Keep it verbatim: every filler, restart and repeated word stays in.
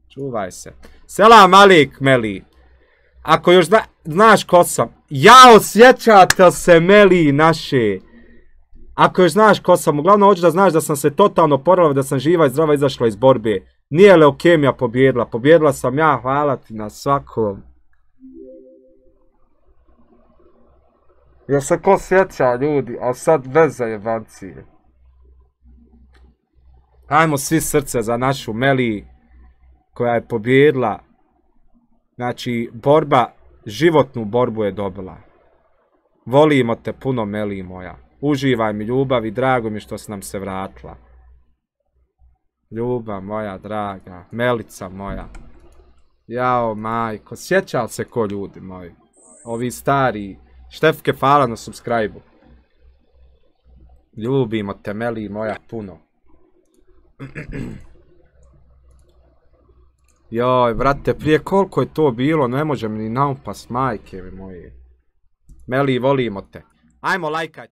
Čuvaj se. Selam alik, Meli. Ako još zna, znaš ko sam. Jao, sjećate se Meli naše. Ako još znaš ko sam. Uglavnom hoću da znaš da sam se totalno oporavila, da sam živa i zdrava izašla iz borbe. Nije leukemija pobjedila. Pobjedila sam ja, hvala ti na svakom. Jel se ko sjeća ljudi, a sad bez zajebancije. Ajmo svi srce za našu Meli koja je pobjedila. Znači, borba, životnu borbu je dobila. Volimo te puno, Meli moja. Uživaj mi ljubav i drago mi što si nam se vratila. Ljubav moja draga, Melica moja. Jao majko, sjeća li se ko ljudi moji? Ovi stari. Štefke, hvala na subscribe-u. Ljubimo te, Meli moja, puno. Joj, brate, prije koliko je to bilo, ne možem ni naupas, majke mi moje. Meli, volimo te. Ajmo lajkaj.